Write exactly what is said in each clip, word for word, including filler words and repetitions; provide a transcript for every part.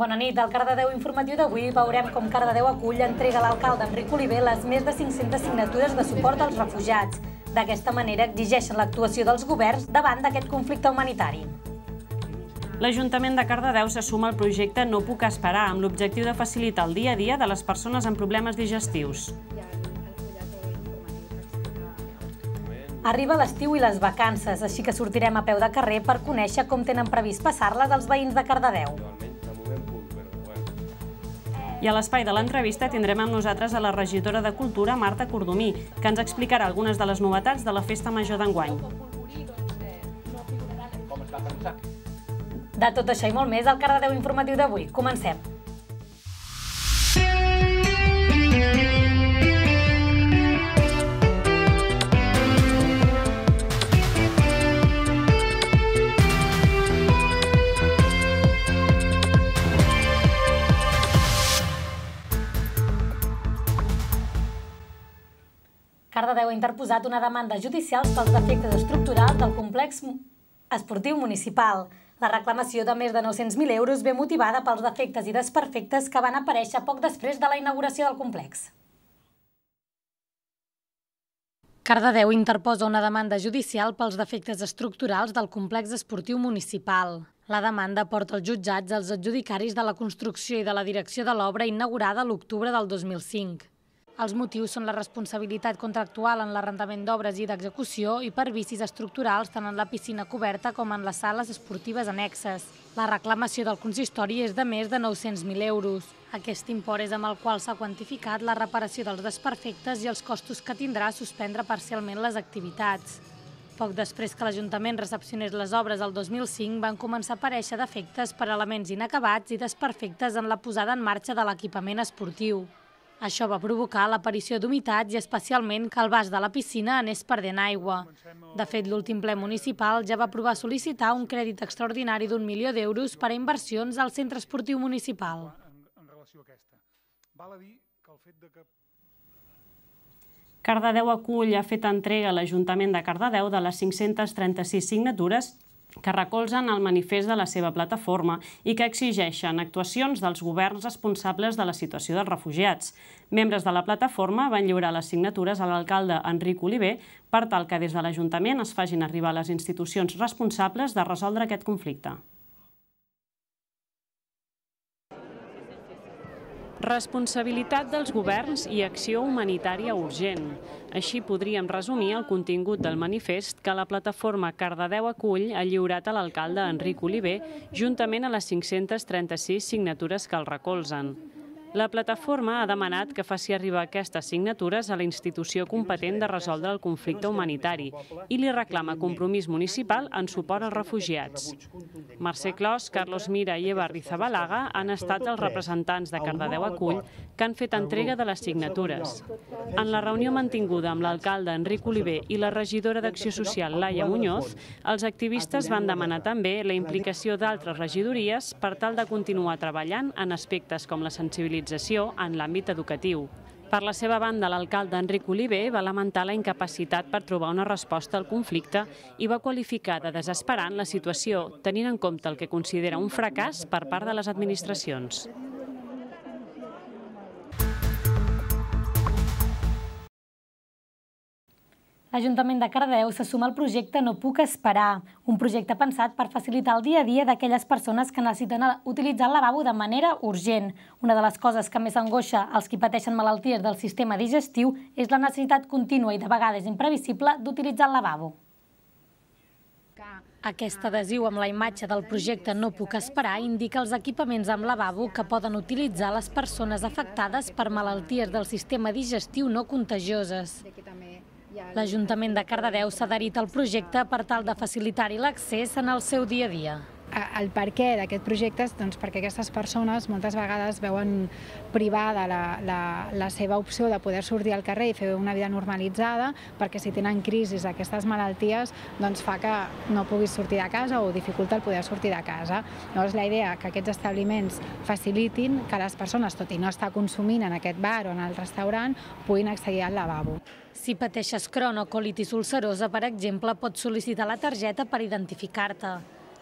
Bona nit. Al Cardedeu informatiu d'avui veurem com Cardedeu acull entrega a l'alcalde Enric Oliver les més de cinc-centes signatures de suport als refugiats. D'aquesta manera exigeixen l'actuació dels governs davant d'aquest conflicte humanitari. L'Ajuntament de Cardedeu se suma al projecte No puc esperar, amb l'objectiu de facilitar el dia a dia de les persones amb problemes digestius. Arriba l'estiu i les vacances, així que sortirem a peu de carrer per conèixer com tenen previst passar-les els veïns de Cardedeu. I a l'espai de l'entrevista tindrem amb nosaltres a la regidora de Cultura, Marta Cordomí, que ens explicarà algunes de les novetats de la Festa Major d'enguany. De tot això i molt més al Cardedeu informatiu d'avui. Comencem! Cardedeu ha interposat una demanda judicial pels defectes estructurals del complex esportiu municipal. La reclamació de més de nou-cents mil euros ve motivada pels defectes i desperfectes que van aparèixer poc després de la inauguració del complex. Cardedeu interposa una demanda judicial pels defectes estructurals del complex esportiu municipal. La demanda porta als jutjats els adjudicaris de la construcció i de la direcció de l'obra inaugurada a l'octubre del dos mil cinc. Els motius són la responsabilitat contractual en l'arrendament d'obres i d'execució i per vicis estructurals tant en la piscina coberta com en les sales esportives annexes. La reclamació del consistori és de més de nou-cents mil euros. Aquest import és amb el qual s'ha quantificat la reparació dels desperfectes i els costos que tindrà suspendre parcialment les activitats. Poc després que l'Ajuntament recepcionés les obres el dos mil cinc van començar a aparèixer defectes per elements inacabats i desperfectes en la posada en marxa de l'equipament esportiu. Això va provocar l'aparició d'humitats i especialment que el vas de la piscina anés perdent aigua. De fet, l'últim ple municipal ja va aprovar sol·licitar un crèdit extraordinari d'un milió d'euros per a inversions al centre esportiu municipal. Cardedeu acull ha fet entrega a l'Ajuntament de Cardedeu de les cinc-centes trenta-sis signatures que recolzen el manifest de la seva plataforma i que exigeixen actuacions dels governs responsables de la situació dels refugiats. Membres de la plataforma van lliurar les signatures a l'alcalde Enric Oliver per tal que des de l'Ajuntament es facin arribar a les institucions responsables de resoldre aquest conflicte. Responsabilitat dels governs i acció humanitària urgent. Així podríem resumir el contingut del manifest que la plataforma Cardedeu acull ha lliurat a l'alcalde Enric Oliver juntament a les cinc-centes trenta-sis signatures que el recolzen. La plataforma ha demanat que faci arribar aquestes signatures a la institució competent de resoldre el conflicte humanitari i li reclama compromís municipal en suport als refugiats. Mercè Clos, Carlos Mira i Eva Rizabalaga han estat els representants de Cardedeu acull que han fet entrega de les signatures. En la reunió mantinguda amb l'alcalde Enric Oliver i la regidora d'Acció Social Laia Muñoz, els activistes van demanar també la implicació d'altres regidories per tal de continuar treballant en aspectes com la sensibilització en l'àmbit educatiu. Per la seva banda, l'alcalde Enric Oliver va lamentar la incapacitat per trobar una resposta al conflicte i va qualificar de desesperant la situació, tenint en compte el que considera un fracàs per part de les administracions. L'Ajuntament de Cardedeu se suma al projecte No puc esperar, un projecte pensat per facilitar el dia a dia d'aquelles persones que necessiten utilitzar el lavabo de manera urgent. Una de les coses que més angoixa als qui pateixen malalties del sistema digestiu és la necessitat contínua i de vegades imprevisible d'utilitzar el lavabo. Aquest adhesiu amb la imatge del projecte No puc esperar indica els equipaments amb lavabo que poden utilitzar les persones afectades per malalties del sistema digestiu no contagioses. L'Ajuntament de Cardedeu s'ha adherit al projecte per tal de facilitar-hi l'accés en el seu dia a dia. El per què d'aquest projecte és perquè aquestes persones moltes vegades veuen privada la seva opció de poder sortir al carrer i fer una vida normalitzada, perquè si tenen crisis d'aquestes malalties fa que no puguis sortir de casa o dificulta el poder sortir de casa. Llavors la idea que aquests establiments facilitin que les persones, tot i no estar consumint en aquest bar o en el restaurant, puguin accedir al lavabo. Si pateixes Crohn o colitis ulcerosa, per exemple, pots sol·licitar la targeta per identificar-te.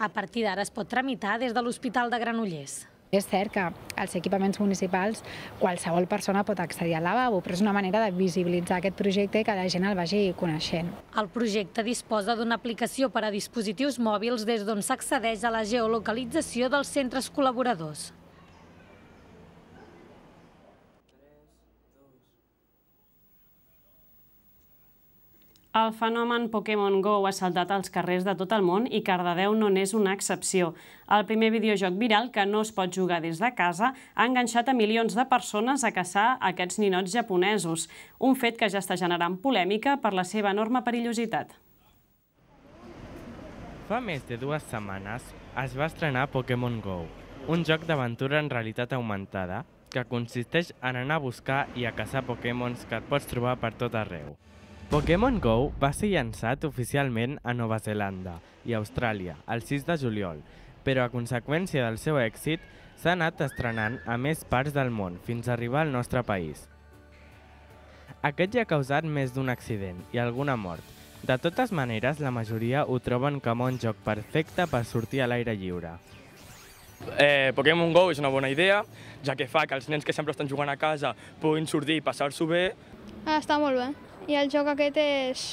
A partir d'ara es pot tramitar des de l'Hospital de Granollers. És cert que als equipaments municipals qualsevol persona pot accedir al lavabo, però és una manera de visibilitzar aquest projecte i que la gent el vagi coneixent. El projecte disposa d'una aplicació per a dispositius mòbils des d'on s'accedeix a la geolocalització dels centres col·laboradors. El fenomen Pokémon Go ha saltat als carrers de tot el món i Cardedeu no n'és una excepció. El primer videojoc viral, que no es pot jugar des de casa, ha enganxat a milions de persones a caçar aquests ninots japonesos, un fet que ja està generant polèmica per la seva enorme perillositat. Fa més de dues setmanes es va estrenar Pokémon Go, un joc d'aventura en realitat augmentada que consisteix en anar a buscar i a caçar Pokémons que et pots trobar per tot arreu. Pokémon Go va ser llançat oficialment a Nova Zelanda i Austràlia el sis de juliol, però a conseqüència del seu èxit s'ha anat estrenant a més parts del món fins a arribar al nostre país. Aquest ja ha causat més d'un accident i alguna mort. De totes maneres, la majoria ho troben com un joc perfecte per sortir a l'aire lliure. Eh, Pokémon Go és una bona idea, ja que fa que els nens que sempre estan jugant a casa puguin sortir i passar-s'ho bé. Ah, està molt bé. I el joc aquest és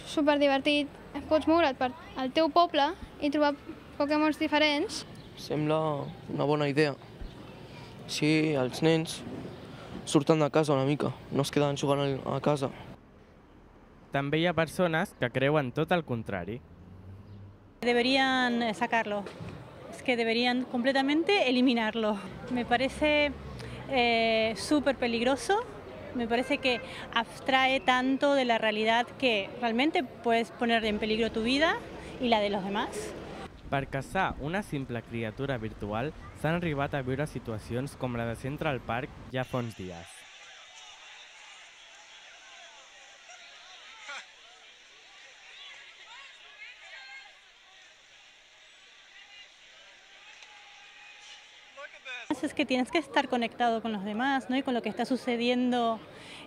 superdivertit. Pots moure't per al teu poble i trobar Pokémons diferents. Sembla una bona idea. Sí, els nens surten de casa una mica, no es queden jugant a casa. També hi ha persones que creuen tot el contrari. Deberían sacarlo. Es que deberían completamente eliminarlo. Me parece eh, súper peligroso. Me parece que abstrae tanto de la realidad que realmente puedes poner en peligro tu vida y la de los demás. Per caçar una simple criatura virtual s'han arribat a viure situacions com la de Central Park ja fa uns dies. Es que tienes que estar conectado con los demás, ¿no? Y con lo que está sucediendo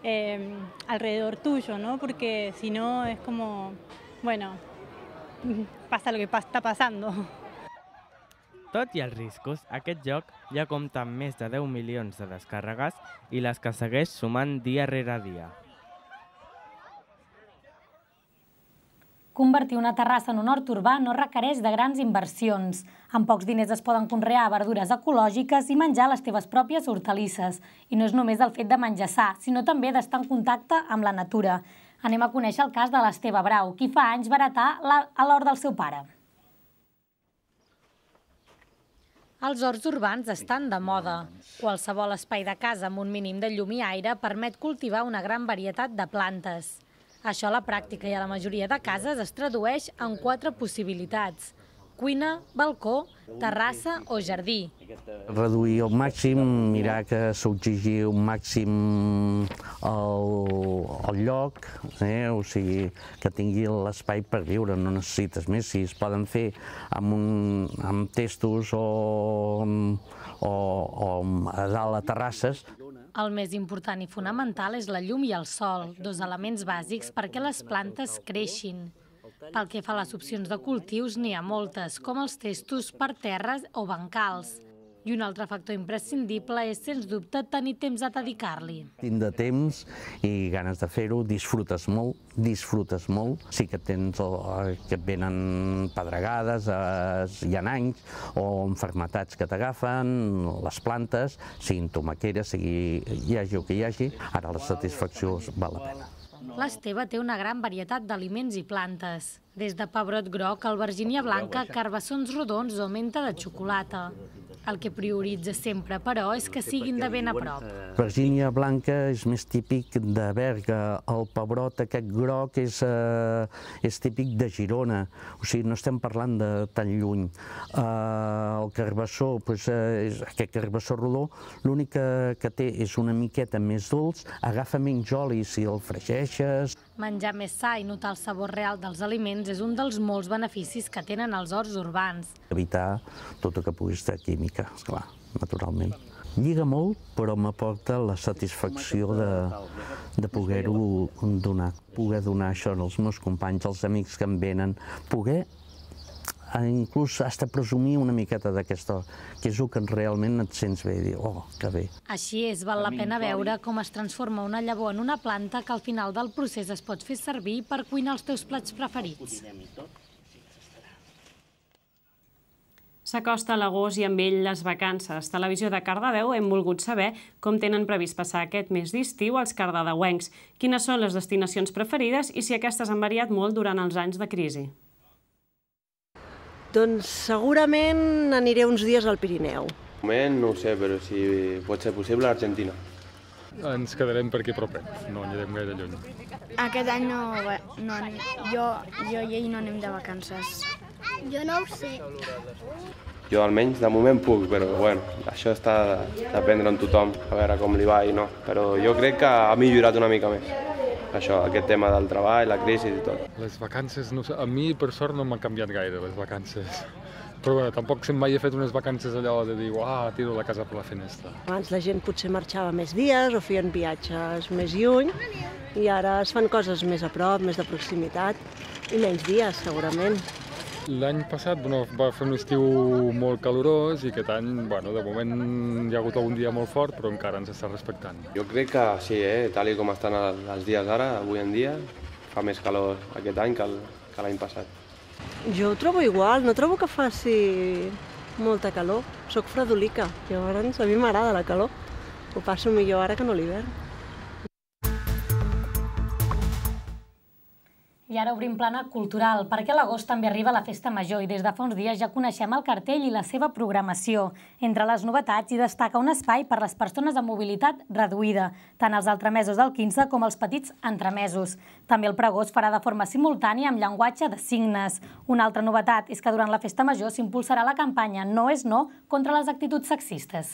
eh, alrededor tuyo, ¿no? Porque si no es como, bueno, pasa lo que está pasando. Tot i els riscos, aquest joc ja compta amb més de deu milions de descàrregues i les que segueix sumant dia rere dia. Convertir una terrassa en un hort urbà no requereix de grans inversions. Amb pocs diners es poden conrear verdures ecològiques i menjar les teves pròpies hortalisses. I no és només el fet de menjar sa, sinó també d'estar en contacte amb la natura. Anem a conèixer el cas de l'Esteve Brau, qui fa anys va heretar a l'hort del seu pare. Els horts urbans estan de moda. Qualsevol espai de casa amb un mínim de llum i aire permet cultivar una gran varietat de plantes. Això a la pràctica i a la majoria de cases es tradueix en quatre possibilitats: cuina, balcó, terrassa o jardí. Reduir al màxim, mirar que s'exigeixi un màxim el lloc, o sigui, que tingui l'espai per viure, no necessites més. Si es poden fer amb testos o a dalt a terrasses. El més important i fonamental és la llum i el sol, dos elements bàsics perquè les plantes creixin. Pel que fa a les opcions de cultius, n'hi ha moltes, com els testos per terres o bancals. I un altre factor imprescindible és, sens dubte, tenir temps a dedicar-li. Tindre temps i ganes de fer-ho, disfrutes molt, disfrutes molt. Sí que tens que et venen pedregades, hi ha anys, o enfermetats que t'agafen, les plantes, siguin tomaqueres, sigui hi hagi el que hi hagi, ara la satisfacció val la pena. L'Esteve té una gran varietat d'aliments i plantes, des de pebrot groc, albergínia blanca, carbassons rodons o menta de xocolata. El que prioritza sempre, però, és que siguin de ben a prop. Albergínia blanca és més típic de Berga, el pebrot aquest groc és típic de Girona, o sigui, no estem parlant de tan lluny. El carbassó, aquest carbassó rodó, l'únic que té és una miqueta més dolç, agafa menys oli si el fregeixes. Menjar més sa i notar el sabor real dels aliments és un dels molts beneficis que tenen els horts urbans. Evitar tot el que pugui estar química, esclar, naturalment. Lliga molt, però m'aporta la satisfacció de poder-ho donar. Poder donar això als meus companys, als amics que em venen, poder inclús has de presumir una miqueta d'aquesta, que és el que realment et sents bé, i dir, oh, que bé. Així és, val la pena veure com es transforma una llavor en una planta que al final del procés es pot fer servir per cuinar els teus plats preferits. S'acosta l'agost i amb ell les vacances. Televisió de Cardedeu hem volgut saber com tenen previst passar aquest mes d'estiu els cardedeuencs, quines són les destinacions preferides i si aquestes han variat molt durant els anys de crisi. Doncs segurament aniré uns dies al Pirineu. De moment no ho sé, però si pot ser possible, a Argentina. Ens quedarem per aquí propet, no anirem gaire lluny. Aquest any no, no jo, jo i ell no anem de vacances. Jo no ho sé. Jo almenys de moment puc, però bueno, això està a dependre en tothom, a veure com li va i no. Però jo crec que ha millorat una mica més, això, aquest tema del treball, la crisi i tot. Les vacances, no sé, a mi per sort no m'han canviat gaire les vacances. Però bueno, tampoc mai he fet unes vacances allò de dir, uah, tiro la casa per la finestra. Abans la gent potser marxava més dies o feien viatges més lluny i ara es fan coses més a prop, més de proximitat i menys dies, segurament. L'any passat bueno, va fer un estiu molt calorós i aquest any, bueno, de moment hi ha hagut algun dia molt fort, però encara ens està respectant. Jo crec que sí, eh? Tal com estan els dies ara, avui en dia, fa més calor aquest any que l'any passat. Jo ho trobo igual, no trobo que faci molta calor. Soc fredolica, llavors a mi m'agrada la calor. Ho passo millor ara que no l'hivern. I ara obrim plana cultural, perquè a l'agost també arriba la Festa Major i des de fa uns dies ja coneixem el cartell i la seva programació. Entre les novetats hi destaca un espai per les persones amb mobilitat reduïda, tant els entremesos del quinze com els petits entremesos. També el pregó es farà de forma simultània amb llenguatge de signes. Una altra novetat és que durant la Festa Major s'impulsarà la campanya No és no contra les actituds sexistes.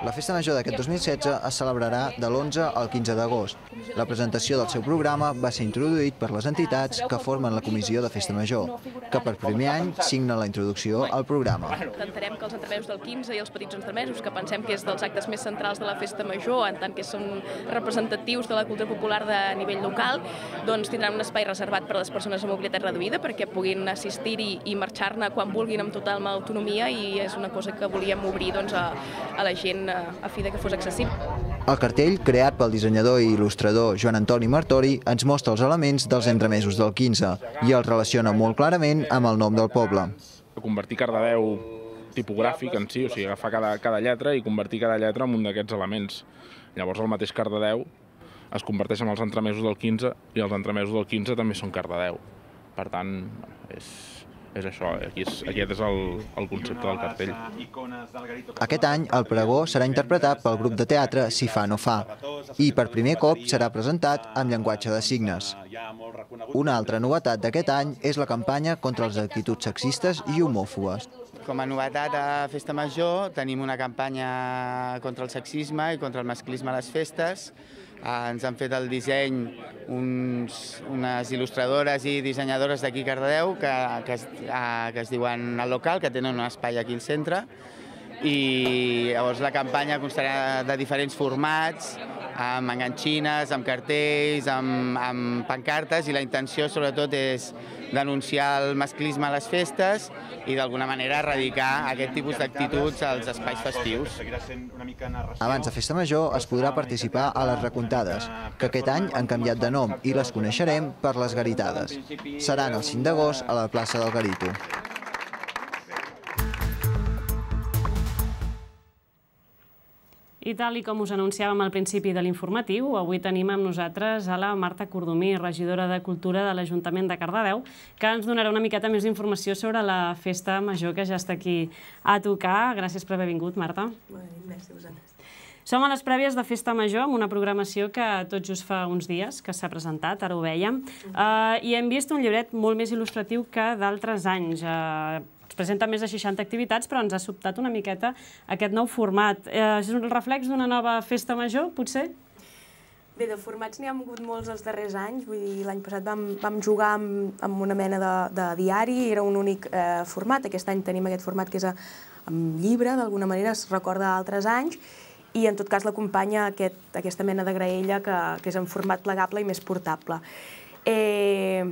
La Festa Major d'aquest dos mil setze es celebrarà de l'onze al quinze d'agost. La presentació del seu programa va ser introduït per les entitats que formen la Comissió de Festa Major, que per primer any signa la introducció al programa. Intentarem que els entremesos del quinze i els petits entremesos, que pensem que és dels actes més centrals de la Festa Major, en tant que són representatius de la cultura popular de nivell local, doncs tindran un espai reservat per a les persones amb mobilitat reduïda perquè puguin assistir-hi i marxar-ne quan vulguin amb total autonomia i és una cosa que volíem obrir doncs, a, a la gent a fi que fos accessible. El cartell, creat pel dissenyador i il·lustrador Joan Antoni Martori, ens mostra els elements dels entremesos del quinze i els relaciona molt clarament amb el nom del poble. Convertir Cardedeu tipogràfic en si, o sigui, agafar cada, cada lletra i convertir cada lletra en un d'aquests elements. Llavors el mateix Cardedeu es converteix en els entremesos del quinze i els entremesos del quinze també són Cardedeu. Per tant, és... és això, aquí és, aquest és el, el concepte del cartell. Aquest any el pregó serà interpretat pel grup de teatre Si fa no fa i per primer cop serà presentat amb llenguatge de signes. Una altra novetat d'aquest any és la campanya contra les actituds sexistes i homòfobes. Com a novetat a Festa Major tenim una campanya contra el sexisme i contra el masclisme a les festes. Ens han fet el disseny uns, unes il·lustradores i dissenyadores d'aquí a Cardedeu que, que, es, que es diuen El Local, que tenen un espai aquí al centre. I llavors la campanya constarà de diferents formats, amb enganxines, amb cartells, amb, amb pancartes, i la intenció sobretot és denunciar el masclisme a les festes i d'alguna manera erradicar aquest tipus d'actituds als espais festius. Abans de Festa Major es podrà participar a les recomptades, que aquest any han canviat de nom i les coneixerem per les garitades. Seran el cinc d'agost a la plaça del Garito. I tal i com us anunciàvem al principi de l'informatiu, avui tenim amb nosaltres a la Marta Cordomí, regidora de Cultura de l'Ajuntament de Cardedeu, que ens donarà una miqueta més d'informació sobre la Festa Major que ja està aquí a tocar. Gràcies per haver vingut, Marta. Gràcies a vosaltres. Som a les prèvies de Festa Major, amb una programació que tot just fa uns dies que s'ha presentat, ara ho vèiem, i hem vist un llibret molt més il·lustratiu que d'altres anys. Es presenta més de seixanta activitats, però ens ha sobtat una miqueta aquest nou format. És un reflex d'una nova Festa Major, potser? Bé, de formats n'hi ha hagut molts els darrers anys. Vull dir, l'any passat vam, vam jugar amb, amb una mena de, de diari, era un únic eh, format. Aquest any tenim aquest format que és a, amb llibre, d'alguna manera es recorda d'altres anys, i en tot cas l'acompanya aquest, aquesta mena de graella que, que és en format plegable i més portable. Eh,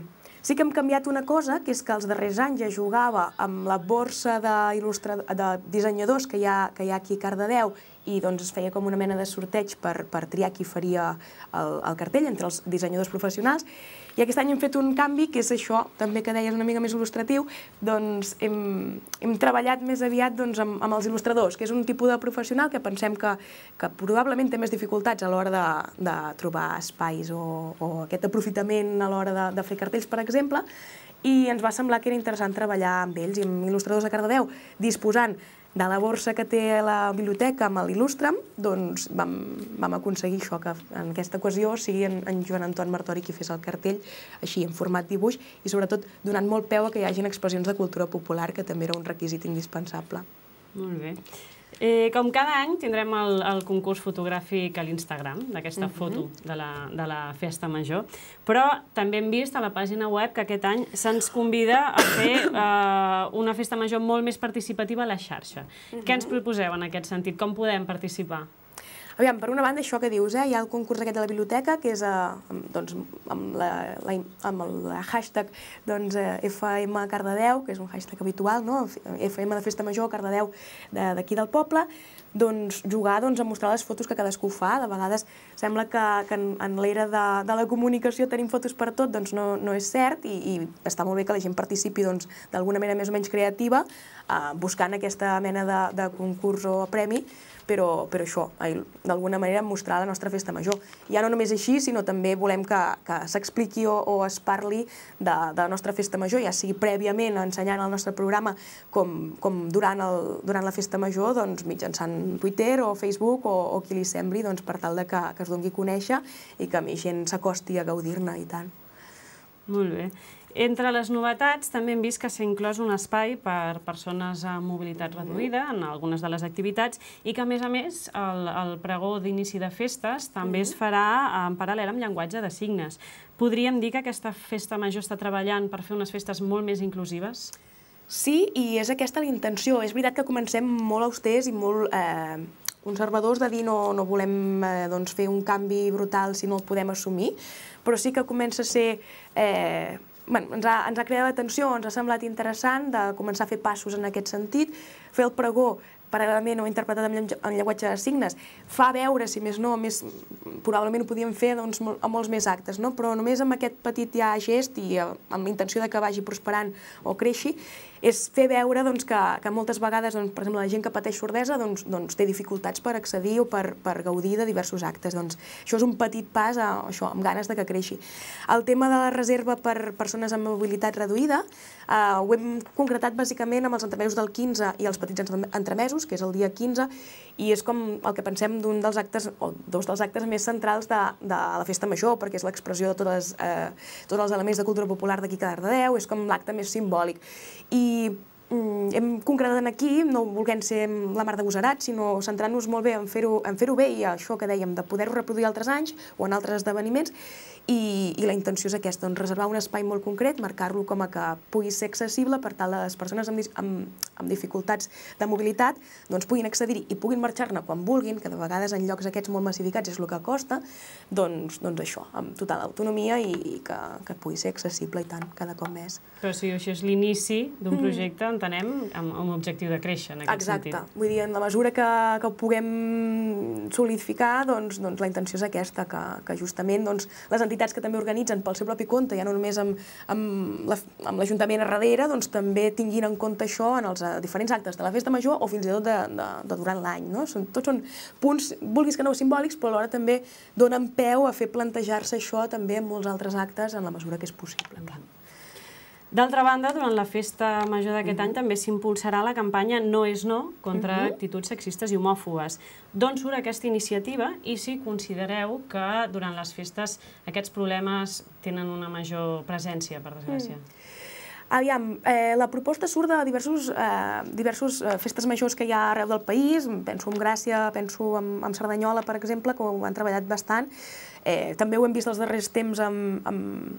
Sí que hem canviat una cosa, que és que els darrers anys ja jugava amb la borsa de dissenyadors que hi ha aquí a Cardedeu i es feia com una mena de sorteig per triar qui faria el cartell entre els dissenyadors professionals. I aquest any hem fet un canvi, que és això, també que deies una mica més il·lustratiu, doncs hem treballat més aviat amb els il·lustradors, que és un tipus de professional que pensem que probablement té més dificultats a l'hora de trobar espais o aquest aprofitament a l'hora de fer cartells, per exemple, i ens va semblar que era interessant treballar amb ells i amb il·lustradors de Cardedeu, disposant de la borsa que té la biblioteca amb l'Il·lustra'm, doncs vam aconseguir això, que en aquesta ocasió sigui en Joan Anton Martori qui fes el cartell, així, en format dibuix, i sobretot donant molt peu a que hi hagin expressions de cultura popular, que també era un requisit indispensable. Molt bé. Com cada any tindrem el concurs fotogràfic a l'Instagram, d'aquesta foto de la Festa Major, però també hem vist a la pàgina web que aquest any se'ns convida a fer una Festa Major molt més participativa a la xarxa. Què ens proposeu en aquest sentit? Com podem participar? Aviam, per una banda, això que dius, hi ha el concurs aquest de la biblioteca, que és amb el hashtag F M Cardedeu, que és un hashtag habitual, F M de Festa Major, Cardedeu d'aquí del poble, doncs jugar a mostrar les fotos que cadascú fa. De vegades sembla que en l'era de la comunicació tenim fotos per tot, doncs no és cert, i està molt bé que la gent participi d'alguna manera més o menys creativa, buscant aquesta mena de concurs o premi, però això, d'alguna manera mostrar la nostra Festa Major. Ja no només així, sinó també volem que s'expliqui o es parli de la nostra Festa Major, ja sigui prèviament ensenyant el nostre programa com durant la Festa Major, mitjançant Twitter o Facebook o qui li sembli, per tal que es doni a conèixer i que més gent s'acosti a gaudir-ne i tant. Molt bé. Entre les novetats també hem vist que s'ha inclòs un espai per persones amb mobilitat reduïda en algunes de les activitats i que, a més a més, el pregó d'inici de festes també es farà en paral·lel amb llenguatge de signes. Podríem dir que aquesta Festa Major està treballant per fer unes festes molt més inclusives? Sí, i és aquesta la intenció. És veritat que comencem molt austers i molt conservadors de dir no volem fer un canvi brutal si no el podem assumir, però sí que comença a ser... Ens ha cridat l'atenció, ens ha semblat interessant de començar a fer passos en aquest sentit, fer el pregó paral·lelament o interpretat en llenguatge de signes, fa veure, si més no, probablement ho podíem fer a molts més actes, però només amb aquest petit ja gest i amb la intenció que vagi prosperant o creixi, és fer veure que moltes vegades, per exemple, la gent que pateix sordesa té dificultats per accedir o per gaudir de diversos actes. Això és un petit pas amb ganes que creixi. El tema de la reserva per persones amb mobilitat reduïda ho hem concretat bàsicament amb els entremesos del quinze i els petits entremesos, que és el dia quinze, i és com el que pensem d'un dels actes, o dos dels actes més centrals de la Festa Major, perquè és l'expressió de tots els elements de cultura popular d'aquí a Cardedeu, és com l'acte més simbòlic. I hem concretat aquí, no volent ser la mar d'agosarats, sinó centrant-nos molt bé en fer-ho bé i això que dèiem, de poder-ho reproduir altres anys o en altres esdeveniments, i la intenció és aquesta, reservar un espai molt concret, marcar-lo com a que pugui ser accessible per tal que les persones amb dificultats de mobilitat puguin accedir-hi i puguin marxar-ne quan vulguin, que de vegades en llocs aquests molt massificats és el que costa, doncs això, amb total autonomia i que pugui ser accessible i tant, cada cop més. Però si això és l'inici d'un projecte, entenem, amb l'objectiu de créixer en aquest sentit. Exacte, vull dir, en la mesura que ho puguem solidificar, doncs la intenció és aquesta, que justament les entitats que també organitzen pel seu propi compte, ja no només amb l'Ajuntament a darrere, doncs també tinguin en compte això en els diferents actes de la Festa Major o fins i tot de durant l'any. Tots són punts, vulguis que no, simbòlics, però alhora també donen peu a fer plantejar-se això també en molts altres actes en la mesura que és possible. D'altra banda, durant la Festa Major d'aquest any també s'impulsarà la campanya No és no contra actituds sexistes i homòfobes. D'on surt aquesta iniciativa i si considereu que durant les festes aquests problemes tenen una major presència, per desgràcia? Aviam, la proposta surt de diversos festes majors que hi ha arreu del país, penso en Gràcia, penso en Cerdanyola, per exemple, que ho han treballat bastant. També ho hem vist els darrers temps amb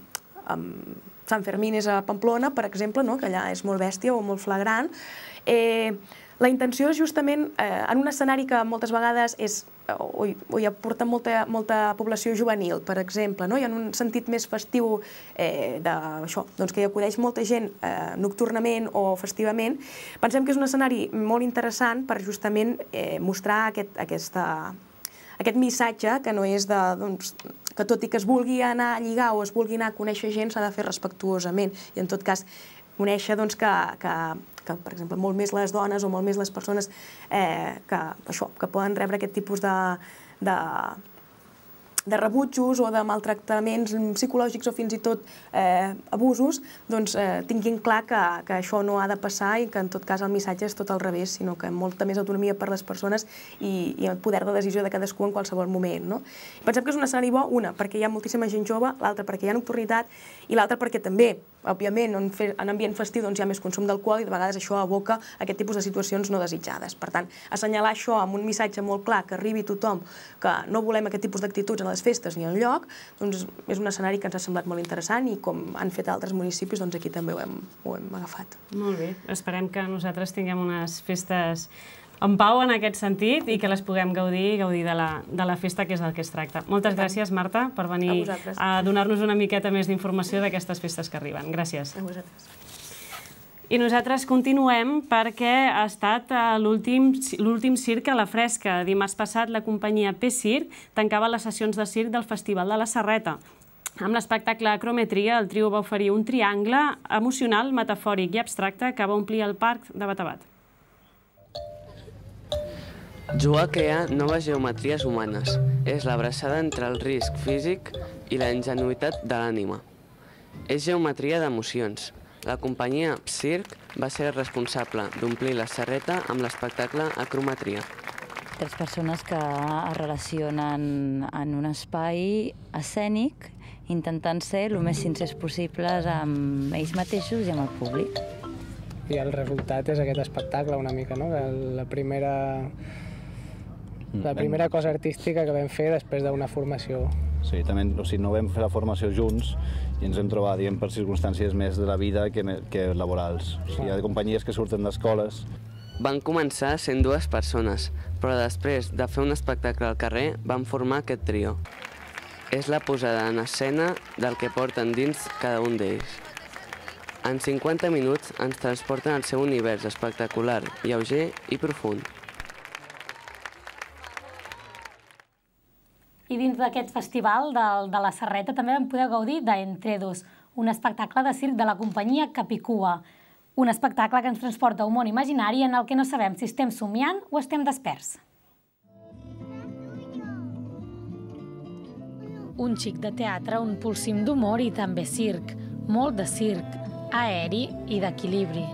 Sant Fermín és a Pamplona, per exemple, que allà és molt bèstia o molt flagrant. La intenció és justament, eh, en un escenari que moltes vegades és, o, o hi aporta molta, molta població juvenil, per exemple, no? I en un sentit més festiu eh, de, això, doncs que hi acudeix molta gent eh, nocturnament o festivament, pensem que és un escenari molt interessant per justament eh, mostrar aquest, aquesta, aquest missatge que no és de, doncs, que tot i que es vulgui anar a lligar o es vulgui anar a conèixer gent s'ha de fer respectuosament i en tot cas conèixer doncs, que, que, que, per exemple, molt més les dones o molt més les persones eh, que, això, que poden rebre aquest tipus de, de, de rebutjos o de maltractaments psicològics o fins i tot eh, abusos, doncs eh, tinguin clar que, que això no ha de passar i que en tot cas el missatge és tot al revés, sinó que molta més autonomia per les persones i, i el poder de decisió de cadascú en qualsevol moment. No? Pensem que és un escenari bo, una, perquè hi ha moltíssima gent jove, l'altra perquè hi ha nocturnitat i l'altra perquè també, òbviament, en, fe, en ambient festiu doncs, hi ha més consum d'alcohol i de vegades això aboca a aquest tipus de situacions no desitjades. Per tant, assenyalar això amb un missatge molt clar que arribi a tothom, que no volem aquest tipus d'actituds en les festes ni enlloc, doncs és un escenari que ens ha semblat molt interessant i com han fet altres municipis, doncs aquí també ho hem, ho hem agafat. Molt bé, esperem que nosaltres tinguem unes festes en pau en aquest sentit i que les puguem gaudir i gaudir de la, de la festa, que és del que es tracta. Moltes gràcies, Marta, per venir a, a donar-nos una miqueta més d'informació d'aquestes festes que arriben. Gràcies. A vosaltres. I nosaltres continuem perquè ha estat l'últim circ a la fresca. Dimarts passat la companyia P-Circ tancava les sessions de circ del Festival de la Serreta. Amb l'espectacle Acrometria, el trio va oferir un triangle emocional, metafòric i abstracte que va omplir el parc de Batabat. Jugar a crear noves geometries humanes. És l'abraçada entre el risc físic i la ingenuïtat de l'ànima. És geometria d'emocions. La companyia P-Circ va ser responsable d'omplir la serreta amb l'espectacle Acrometria. Tres persones que es relacionen en un espai escènic intentant ser el més sincers possibles amb ells mateixos i amb el públic. I el resultat és aquest espectacle una mica, no? La primera... La primera cosa artística que vam fer després d'una formació. Sí, també, o sigui, no vam fer la formació junts i ens hem trobat, diguem, per circumstàncies més de la vida que, que laborals. O sigui, hi ha companyies que surten d'escoles. Van començar sent dues persones, però després de fer un espectacle al carrer van formar aquest trio. És la posada en escena del que porten dins cada un d'ells. En cinquanta minuts ens transporten al seu univers espectacular, lleuger i profund. I dins d'aquest festival de, de la Serreta també vam poder gaudir d'Entredos, un espectacle de circ de la companyia Capicua. Un espectacle que ens transporta a un món imaginari en el que no sabem si estem somiant o estem desperts. Un xic de teatre, un polsim d'humor i també circ. Molt de circ, aeri i d'equilibri.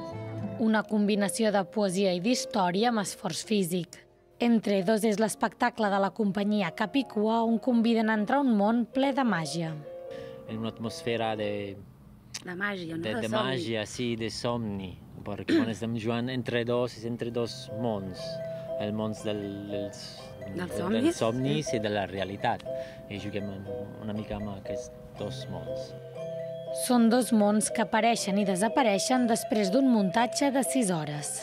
Una combinació de poesia i d'història amb esforç físic. Entredos és l'espectacle de la companyia Capicua on conviden a entrar a un món ple de màgia. En una atmosfera de... De màgia, no? De, de màgia, sí, de somni. Perquè quan estem jugant entre dos, és entre dos mons. El món del, dels, dels del, somnis, dels somnis i de la realitat. I juguem una mica amb aquests dos mons. Són dos mons que apareixen i desapareixen després d'un muntatge de sis hores.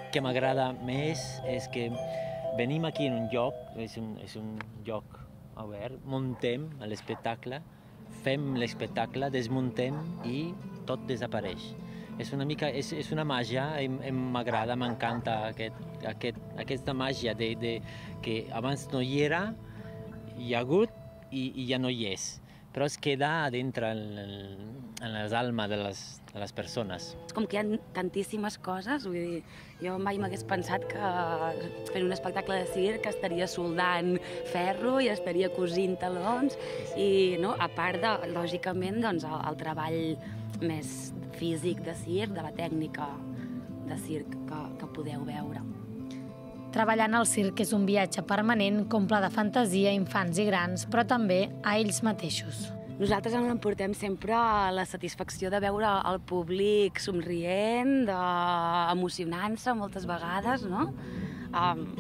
El que m'agrada més és que venim aquí en un lloc, és un, és un lloc obert, muntem l'espectacle, fem l'espectacle, desmuntem i tot desapareix. És una mica, és, és una màgia, m'agrada, m'encanta aquest, aquest, aquesta màgia de, de, que abans no hi era, hi ha hagut i, i ja no hi és. Però es queda dintre en, en les almes de les, de les persones. És com que hi ha tantíssimes coses, vull dir, jo mai m'hagués pensat que fent un espectacle de circ estaria soldant ferro i estaria cosint talons i, no, a part de, lògicament, doncs, el, el treball més físic de circ, de la tècnica de circ que, que podeu veure. Treballar en el circ és un viatge permanent que omple de fantasia a infants i grans, però també a ells mateixos. Nosaltres ens emportem sempre la satisfacció de veure el públic somrient, de... emocionant-se moltes vegades, no?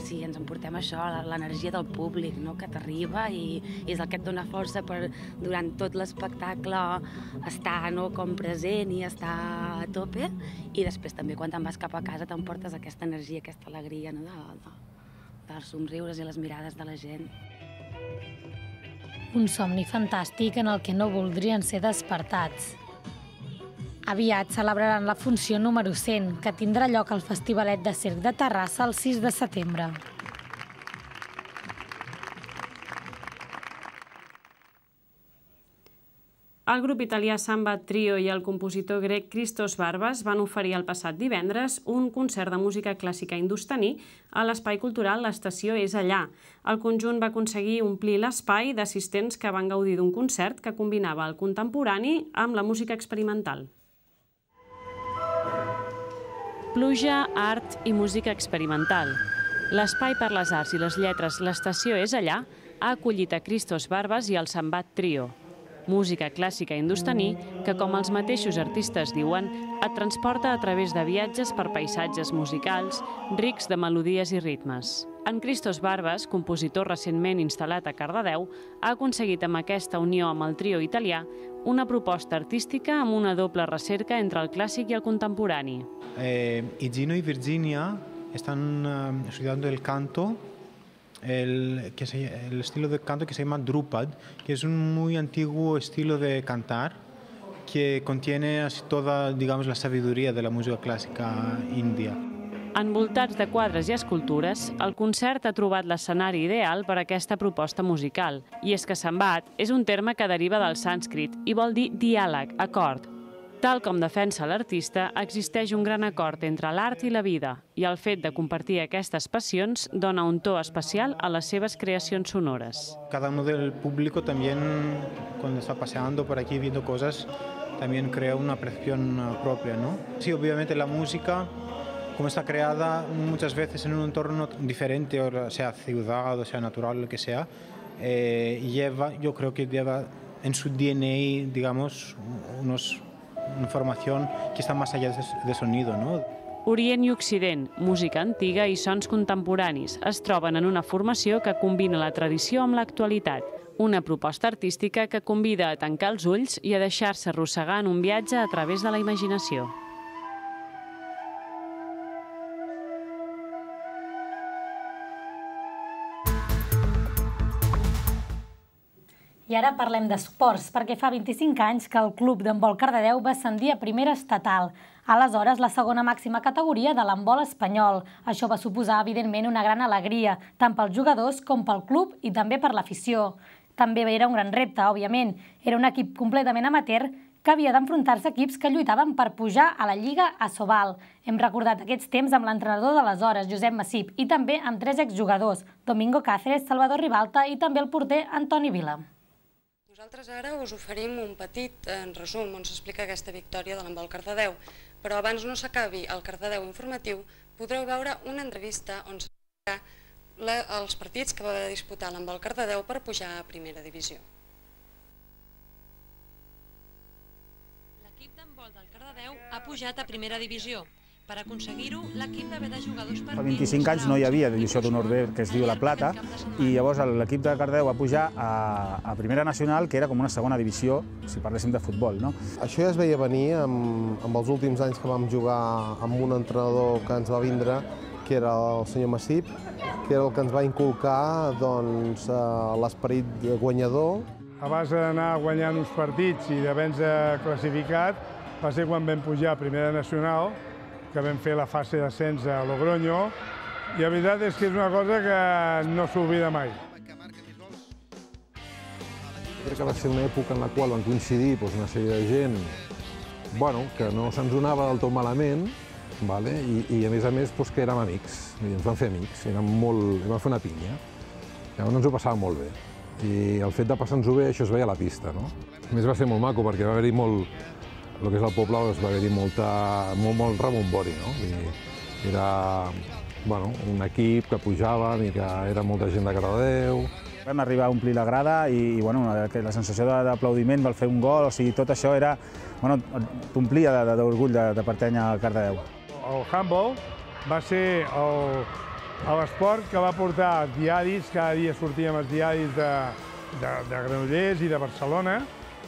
si ens emportem això, l'energia del públic que t'arriba i és el que et dona força per durant tot l'espectacle estar com present i estar a tope, i després també quan te'n vas cap a casa t'emportes aquesta energia, aquesta alegria dels somriures i les mirades de la gent. Un somni fantàstic en el que no voldrien ser despertats. Aviat celebraran la funció número cent, que tindrà lloc al Festivalet de Circ de Terrassa el sis de setembre. El grup italià Samba Trio i el compositor grec Christos Barbas van oferir el passat divendres un concert de música clàssica hindustaní a l'espai cultural L'Estació és allà. El conjunt va aconseguir omplir l'espai d'assistents que van gaudir d'un concert que combinava el contemporani amb la música experimental. Pluja, art i música experimental. L'espai per les arts i les lletres L'Estació és allà ha acollit a Christos Barbas i el Sambat Trio. Música clàssica hindustaní que, com els mateixos artistes diuen, et transporta a través de viatges per paisatges musicals rics de melodies i ritmes. En Christos Barbas, compositor recentment instal·lat a Cardedeu, ha aconseguit amb aquesta unió amb el trio italià una proposta artística amb una doble recerca entre el clàssic i el contemporani. Y Gino y Virginia están estudiando el canto, el, que se, el estilo de canto que se llama Drupad, que es un muy antiguo estilo de cantar que contiene así toda, digamos, la sabiduría de la música clásica india. Envoltats de quadres i escultures, el concert ha trobat l'escenari ideal per a aquesta proposta musical. I és que Sambat és un terme que deriva del sànscrit i vol dir diàleg, acord. Tal com defensa l'artista, existeix un gran acord entre l'art i la vida, i el fet de compartir aquestes passions dona un to especial a les seves creacions sonores. Cada uno del público también, cuando está paseando por aquí viendo cosas, también crea una percepción propia, ¿no? Sí, obviamente la música, como está creada muchas veces en un entorno diferente, o sea ciudad, o sea natural, lo que sea, eh, lleva, yo creo que lleva en su D N A, digamos, unos informació que està més allà de sonido, ¿no? Orient i Occident, música antiga i sons contemporanis es troben en una formació que combina la tradició amb l'actualitat. Una proposta artística que convida a tancar els ulls i a deixar-se arrossegar en un viatge a través de la imaginació. I ara parlem d'esports, perquè fa vint-i-cinc anys que el club d'handbol Cardedeu va ascendir a primera estatal, aleshores la segona màxima categoria de l'handbol espanyol. Això va suposar, evidentment, una gran alegria, tant pels jugadors com pel club i també per l'afició. També era un gran repte, òbviament. Era un equip completament amateur que havia d'enfrontar-se a equips que lluitaven per pujar a la Lliga Asobal. Hem recordat aquests temps amb l'entrenador d'aleshores, Josep Massip, i també amb tres exjugadors, Domingo Cáceres, Salvador Ribalta i també el porter Antoni Vila. Nosaltres ara us oferim un petit resum on s'explica aquesta victòria de l'handbol Cardedeu, però abans no s'acabi el Cardedeu informatiu, podreu veure una entrevista on s'explica els partits que va disputar l'handbol Cardedeu per pujar a primera divisió. L'equip d'handbol del Cardedeu ha pujat a primera divisió. Per aconseguir-ho, l'equip va haver de jugar dos partits... Fa vint-i-cinc anys no hi havia divisió d'honor B, que es diu La Plata, i llavors l'equip de Cardedeu va pujar a Primera Nacional, que era com una segona divisió, si parléssim de futbol. Això ja es veia venir amb els últims anys que vam jugar amb un entrenador que ens va vindre, que era el senyor Massip, que era el que ens va inculcar l'esperit guanyador. A base d'anar guanyant uns partits i d'haver-nos classificat, va ser quan vam pujar a Primera Nacional, que vam fer la fase d'ascens a Logroño, i la veritat és que és una cosa que no s'oblida mai. Crec que va ser una època en la qual van coincidir una sèrie de gent que no se'ns donava del tot malament, i a més a més que érem amics, ens vam fer amics, vam fer una pinya. Llavors ens ho passàvem molt bé, i el fet de passar-nos-ho bé, això es veia a la pista. A més va ser molt maco perquè va haver-hi molt... el que és el poble va haver-hi molt rebombori. Era un equip que pujaven i que era molta gent de Cardedeu. Vam arribar a omplir la grada i la sensació d'aplaudiment pel fer un gol, o sigui, tot això era... t'omplia d'orgull de pertànyer a Cardedeu. El handball va ser a l'esport que va portar diaris, cada dia sortíem els diaris de, de, de Granollers i de Barcelona,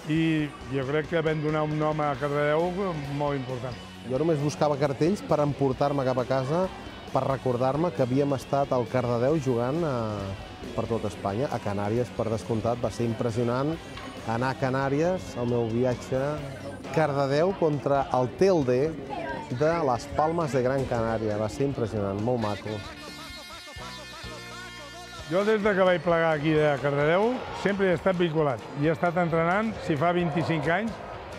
i jo crec que vam donar un nom a Cardedeu molt important. Jo només buscava cartells per emportar-me cap a casa, per recordar-me que havíem estat al Cardedeu jugant a, per tot Espanya. A Canàries, per descomptat, va ser impressionant anar a Canàries, el meu viatge Cardedeu contra el Telde de les Palmes de Gran Canària. Va ser impressionant, molt maco. Jo des que vaig plegar aquí de Cardedeu sempre he estat vinculat i he estat entrenant, si fa vint-i-cinc anys,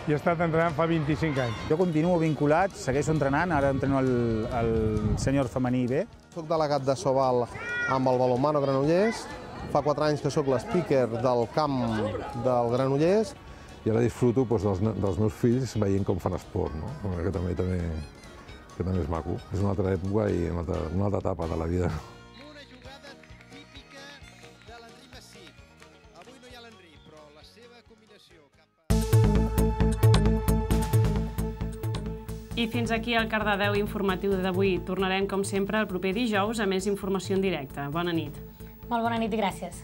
i he estat entrenant fa vint-i-cinc anys. Jo continuo vinculat, segueixo entrenant, ara entreno el, el sènior femení B. Soc delegat de Sobal amb el balonmano Granollers, fa quatre anys que soc l'speaker del camp del Granollers. I ara disfruto doncs, dels, dels meus fills veient com fan esport, no? que, també, també, que també és maco. És una altra època i una altra, una altra etapa de la vida. I fins aquí el Cardedeu informatiu d'avui. Tornarem, com sempre, el proper dijous a més informació en directe. Bona nit. Molt bona nit i gràcies.